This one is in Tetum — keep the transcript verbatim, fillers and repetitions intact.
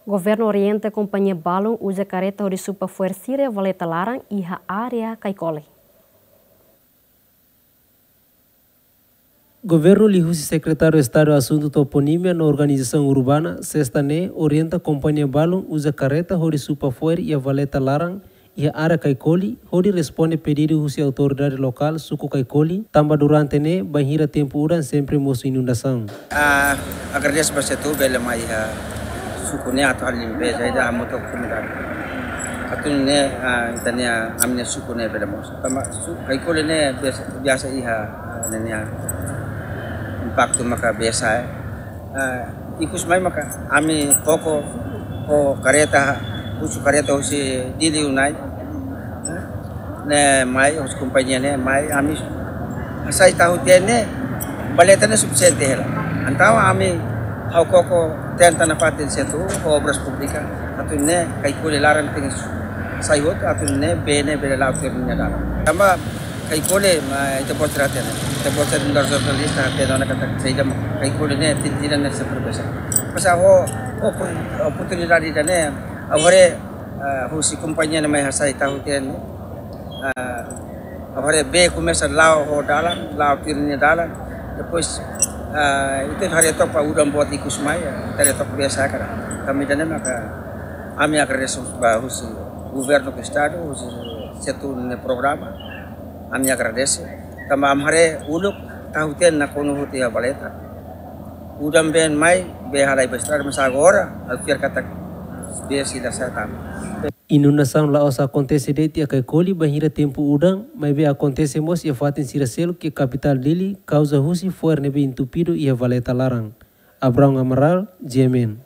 Governu orienta kompañia balun uza kareta hodi supa fo'er sira iha valeta laran iha área Caicoli. Governu liuhusi Sekretáriu Estadu Asuntu Toponímia no Organizasaun Urbana, sesta ne'e, orienta kompañia balun uza kareta hodi supa fo'er iha valeta laran iha área Caicoli, hodi responde pedidu husi autoridade lokál suku Caicoli, tanba durante ne'e bainhira tempu udan sempre mosu inundasaun. Ah, agradese ba Setu bele mai iha suku ne'e atu halo limpeza ida hamutuk komunidade. Atu nune'e, ah, ita-nia, ami-nia suku ne'e bele mosu. Tanba su-, Caicoli ne'e biasa, biasa iha, ah, ne'e nia impaktu maka biasa, eh. Ah, ikus mai maka ami koko ho kareta, husu kareta husi Dili Unai. Ne'e mai, husi kompañia ne'e mai, ami hasai tahu tiha ne'e, valeta ne'e sufisiente hela. Entaun ami ha'u koko tenta nafatin Setu ho Obras Públikas, atu nune'e Caicoli laran tenke sai hotu, atu nune'e bee ne'e bele la'o tuir nia dalan. Tanba Caicoli, ma ita-boot sira hatene. Ita-boot sira nu'udar jornalista hatene ona katak saida mak Caicoli ne'e, tinan-tinan ne'e sempre besar. Mas ho, ho opor-, oportunidade ida-ne'e, ha'u haree, ah, husi kompañia ne'e mai hasai tahu tiha ne'e. Ah, ha'u haree bee komesa la'o ho dalan, la'o tuir nia dalan. Depois, ah, ita haree took ba udan boot ikus mai, ita haree took biasa karik. Tanba ida-ne'e maka ami agradese ba husi governu estadu, husi Setu nia programa. Ami agradese. Tanba ami haree uluk tahu tiha nakonu hotu iha valeta. Udan been mai, bee halai ba estrada, mas agora, ha'u fiar katak bee sei la sai tan. Inundasaun la'ós akontese de'it iha Caicoli bainhira tempu udan, maibé akontese mós iha fatin sira seluk iha kapitál Dili, kauza husi fo'er ne'ebé entupidu iha valeta laran. Abrão Amaral, G M N.